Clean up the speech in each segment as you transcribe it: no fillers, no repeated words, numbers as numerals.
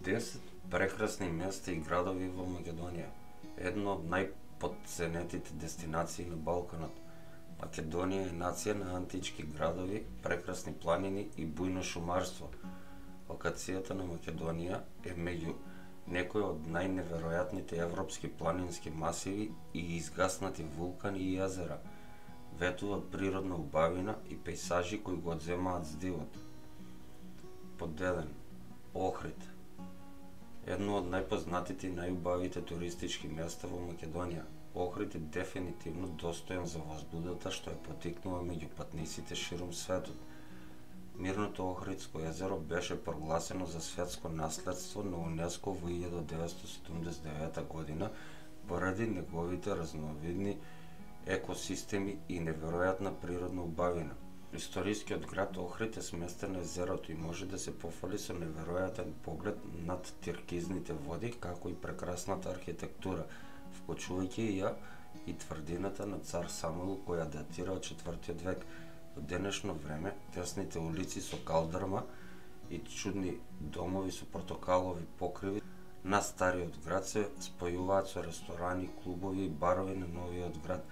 10 прекрасни места и градови во Македонија. Едно од најпотценетите дестинации на Балканот. Македонија е нација на антички градови, прекрасни планини и бујно шумарство. Локацијата на Македонија е меѓу некои од најневеројатните европски планински масиви и изгаснати вулкани и јазера. Ветува природна убавина и пејсажи кои го одземаат здивот. Под 1. Охрид. Едно од најпознатите и најубавите туристички места во Македонија. Охрид е дефинитивно достоен за возбудата што е потикнува меѓу патниците ширум светот. Мирното Охридско езеро беше прогласено за светско наследство на УНЕСКО во 1979 година поради неговите разновидни екосистеми и неверојатна природна убавина. Историскиот град Охрид е сместен на езерото и може да се пофали со неверојатен поглед над тиркизните води, како и прекрасната архитектура, вклучувајќи ја и тврдината на цар Самуил која датира од 4 век. Во денешно време, тесните улици со калдрма и чудни домови со портокалови покриви на стариот град се спојуваат со ресторани, клубови и барови на новиот град,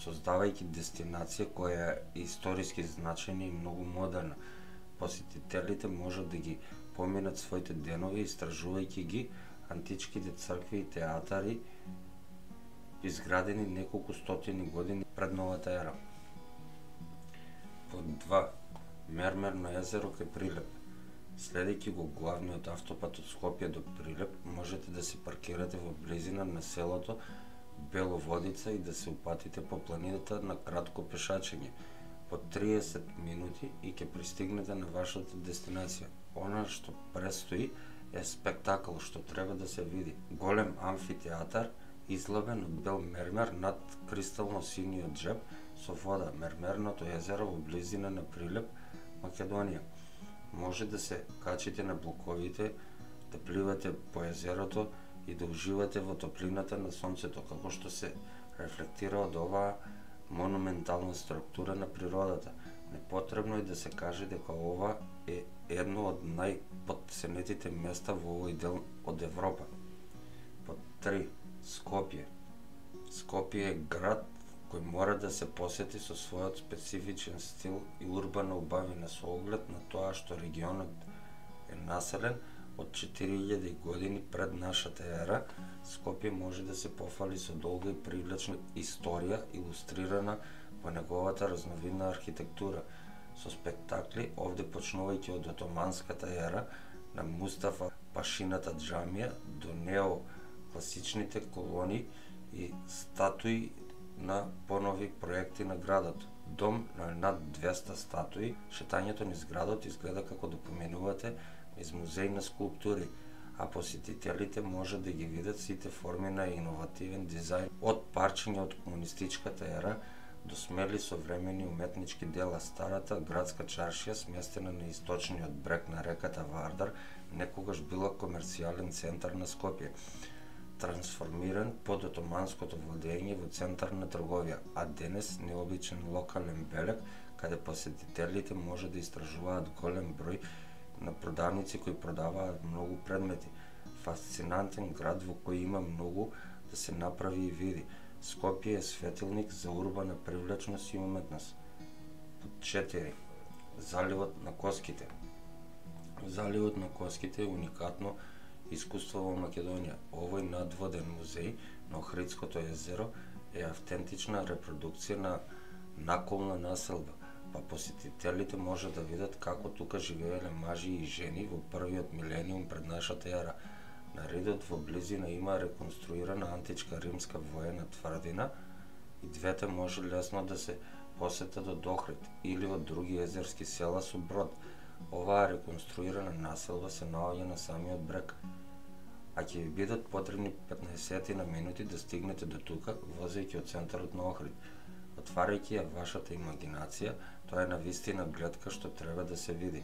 создавајќи дестинација која е историски значајна и многу модерна. Посетителите можат да ги поминат своите денови истражувајќи ги античките цркви и театари изградени неколку стотини години пред новата ера. Под 2. Мермерно езеро кај Прилеп. Следејќи го главниот автопат од Скопје до Прилеп, можете да се паркирате во близина на селото Беловодица и да се упатите по планината на кратко пешачење. По 30 минути и ќе пристигнете на вашата дестинација. Она што престои е спектакл што треба да се види. Голем амфитеатар, излабен од бел мермер над кристално синиот џеб со вода. Мермерното езеро во близина на Прилеп, Македонија. Може да се качите на блоковите, да пливате по езерото и да уживате во топлината на сонцето, како што се рефлектира од оваа монументална структура на природата. Непотребно е да се каже дека ова е едно од најпотценетите места во овој дел од Европа. Под 3. Скопје. Скопје е град кој мора да се посети со својот специфичен стил и урбана убавина со оглед на тоа што регионот е населен од 4000 години пред нашата ера. Скопје може да се пофали со долга и привлечна историја илустрирана во неговата разновидна архитектура, со спектакли овде почнувајќи од отоманската ера на Мустафа Пашината џамија до неокласичните колони и статуи на понови проекти на градот. Дом на над 200 статуи, шетањето низ градот изгледа како да поминувате низ музеј на скулптури, а посетителите може да ги видат сите форми на иновативен дизајн, од парчиња од комунистичката ера до смели современи уметнички дела. Старата градска чаршија, сместена на источниот брег на реката Вардар, некогаш била комерцијален центар на Скопје, трансформиран под отоманското владење во центар на трговија, а денес необичен локален белег, каде посетителите може да истражуваат голем број на продавници кои продаваат многу предмети. Фасцинантен град во кој има многу да се направи и види. Скопје е светилник за урбана привлечност и уметност. Под 4. Заливот на Коските. Заливот на Коските е уникатно искуство во Македонија. Овој надводен музеј на Охридското езеро е автентична репродукција на наколна населба, па посетителите може да видат како тука живееле мажи и жени во првиот милениум пред нашата ера. На редот во близина има реконструирана античка римска воена тврдина и двете може лесно да се посетат од Охрид или од други езерски села со брод. Оваа реконструирана населба се наоѓа на самиот брег, а ќе ви бидат потребни 15 на минути да стигнете до тука, возејќи од центарот на Охрид. Отварајќи ја вашата имагинација, тоа е навистина гледка што треба да се види.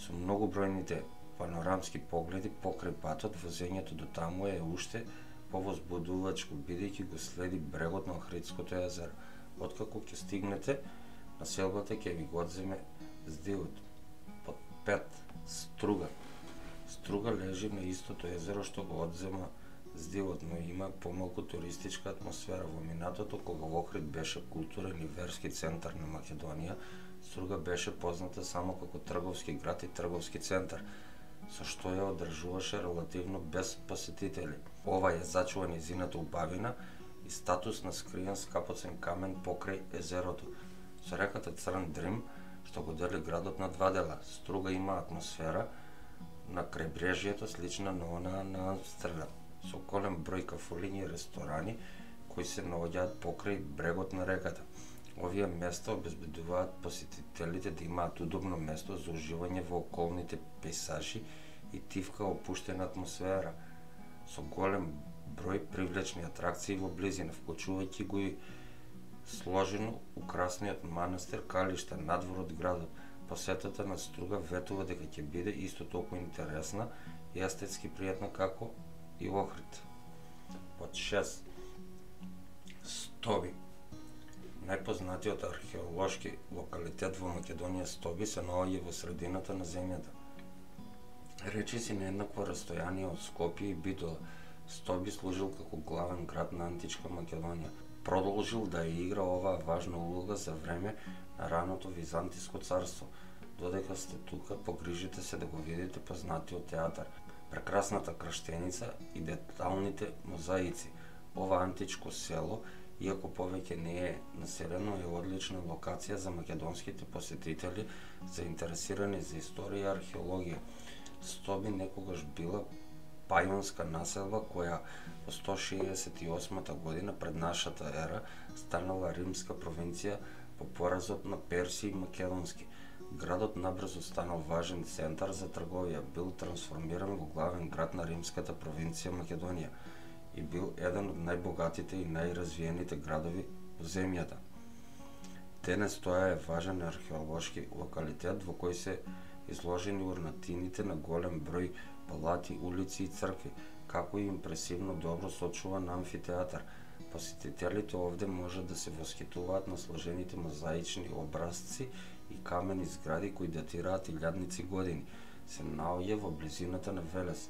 Со многобројните панорамски погледи покрај патот, возењето до таму е уште повозбудувачко, бидејќи го следи брегот на Охридското езеро. Откако ќе стигнете, населбата ќе ви го одземе здивот. Под 5. Струга. Струга лежи на истото езеро што го одзема здивот, но има помалку туристичка атмосфера. Во минатото, кога Охрид беше културен и верски центар на Македонија, Струга беше позната само како трговски град и трговски центар, со што ја одржуваше релативно без посетители. Ова ја зачува нејзината убавина и статус на скриен скапоцен камен покрај езерото, со реката Црн Дрим, што го дели градот на два дела. Струга има атмосфера на крајбрежјето слична на онаа на Амстердам, со голем број кафулиња и ресторани кои се наоѓаат покрај брегот на реката. Овие места обезбедуваат посетителите да имаат удобно место за уживање во околните пејзажи и тивка опуштена атмосфера, со голем број привлечни атракции во близина, вклучувајќи го и сложено украсниот манастир Калишта надвор од градот. Посетата на Струга ветува дека ќе биде исто толку интересна и естетски пријатна како и Охрид. Под 6. Стоби. Најпознатиот археолошки локалитет во Македонија Стоби се наоѓа во средината на земјата. Речиси на еднакво растојание од Скопје и Битола, Стоби служил како главен град на античка Македонија. Продолжил да ја игра оваа важна улога за време на раното Византиско царство. Додека сте тука, погрижите се да го видите познатиот театар, прекрасната крштеница и деталните мозаици. Ова античко село, иако повеќе не е населено, е одлична локација за македонските посетители заинтересирани за историја и археологија. Стоби некогаш била пајонска населба која во 168 година пред нашата ера станала римска провинција по поразот на Перси и Македонски. Градот набрзо станал важен центар за трговија, бил трансформиран во главен град на римската провинција Македонија и бил еден од најбогатите и најразвиените градови во земјата. Денес тоа е важен археолошки локалитет во кој се изложени урнатините на голем број палати, улици и цркви, како и импресивно добро сочуван амфитеатар. Посетителите овде можат да се восхитуваат на сложените мозаични образци и камени згради кои датираат илјадници години. Се наоѓа во близината на Велес,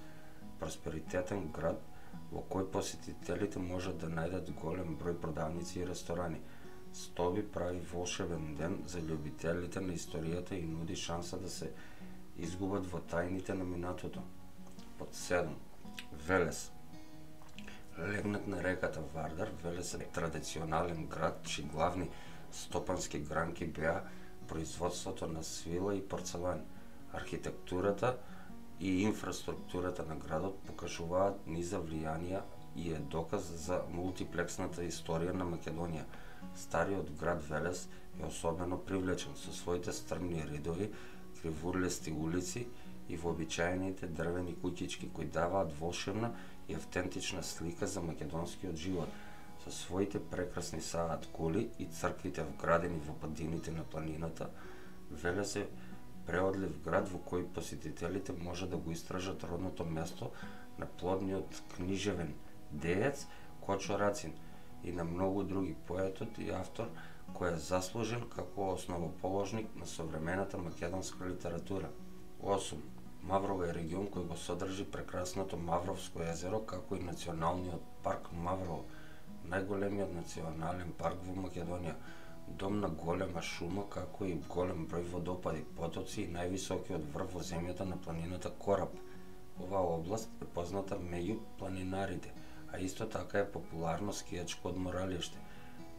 просперитетен град во кој посетителите можат да најдат голем број продавници и ресторани. Стоби прави волшебен ден за љубителите на историјата и нуди шанса да се изгубат во тајните на минатото. Под 7. Велес. Легнат на реката Вардар, Велес е традиционален град чии главни стопански гранки беа производството на свила и порцелан. Архитектурата и инфраструктурата на градот покажуваат низа влијанија и е доказ за мултиплексната историја на Македонија. Стариот град Велес е особено привлечен со своите стрмни ридови, кривурлести улици и вообичаените дрвени куќички кои даваат волшебна и автентична слика за македонскиот живот. Со своите прекрасни саат кули и црквите вградени во падините на планината, Велес е преодлив град во кој посетителите може да го истражат родното место на плодниот книжевен деец Кочо Рацин и на многу други, поетот и автор кој е заслужен како основоположник на современата македонска литература. 8. Маврово е регион кој го содржи прекрасното Мавровско езеро, како и националниот парк Маврово, најголемиот национален парк во Македонија, дом на голема шума, како и голем број водопади, потоци и највисокиот врв во земјата на планината Кораб. Оваа област е позната меѓу планинарите, а исто така е популарно скијачко одморалиште.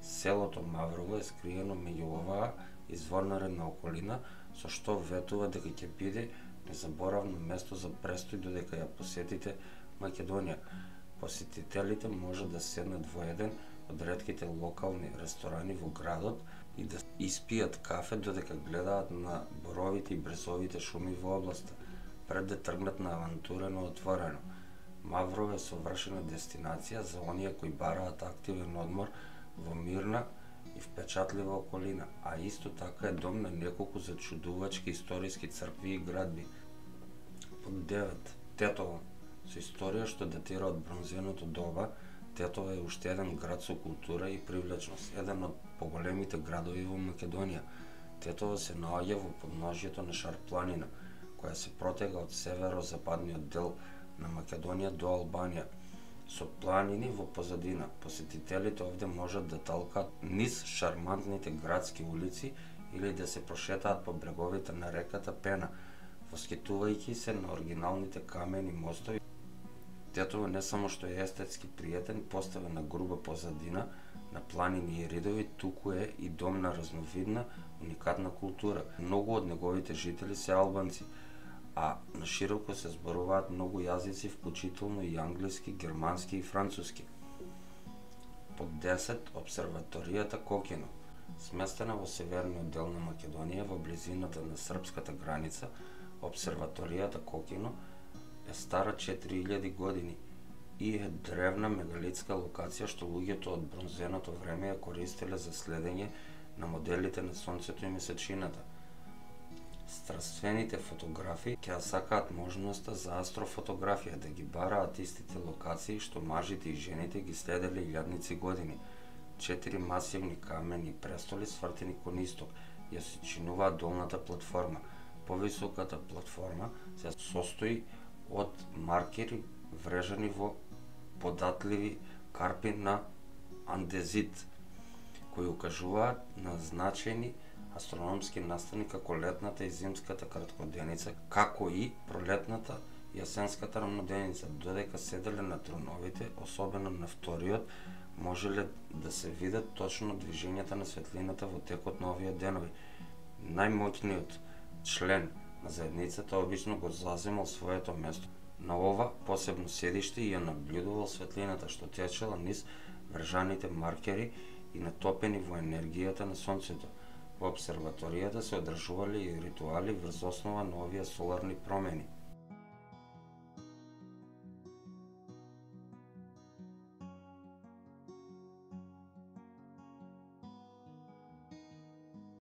Селото Маврово е скриено меѓу оваа изворнаредна околина, со што ветува дека ќе биде незаборавно место за престој додека ја посетите Македонија. Посетителите може да седнат во еден од ретките локални ресторани во градот и да испијат кафе додека гледаат на боровите и брезовите шуми во областа, пред да тргнат на авантурено отворено. Маврово е совршена дестинација за оние кои бараат активен одмор во мирна и впечатлива околина, а исто така е дом на неколку зачудувачки историски цркви и градби. Под 9. Тетово. Со историја што датира од бронзеното доба, Тетово е уште еден град со култура и привлечност, еден од поголемите градови во Македонија. Тетово се наоѓа во подножјето на Шар планина, која се протега од северозападниот дел на Македонија до Албанија, со планини во позадина. Посетителите овде можат да талкаат низ шармантните градски улици или да се прошетаат по бреговите на реката Пена, воскитувајќи се на оригиналните камени мостови. Тетово не само што е естетски пријатен, поставен на груба позадина, на планини и ридови, туку е и дом на разновидна, уникатна култура. Многу од неговите жители се албанци, а нашироко се зборуваат многу јазици, вклучително и англиски, германски и француски. Под 10. Обсерваторијата Кокино. Сместена во северниот дел на Македонија, во близината на српската граница, обсерваторијата Кокино е стара 4000 години и е древна мегалитска локација што луѓето од бронзеното време ја користеле за следење на моделите на сонцето и месечината. Страствените фотографи ќе сакаат можноста за астрофотографија, да ги бараат истите локации што мажите и жените ги следеле илјадници години. 4 масивни камени престоли свртени кон исток ја се чинуваат долната платформа. Повисоката платформа се состои од маркери врежани во податливи карпи на андезит, кои укажуваат на значајни астрономски настани како летната и зимската краткоденица, како и пролетната и јасенската рамноденица. Додека седеле на троновите, особено на вториот, можеле да се видат точно движењата на светлината во текот на овие денови. Најмоќниот член на заедницата обично го заземал своето место на ова посебно седиште и ја наблюдувал светлината што течела низ вржаните маркери и натопени во енергијата на сонцето. Во обсерваторијата се одржувале и ритуали врз основа на овие соларни промени.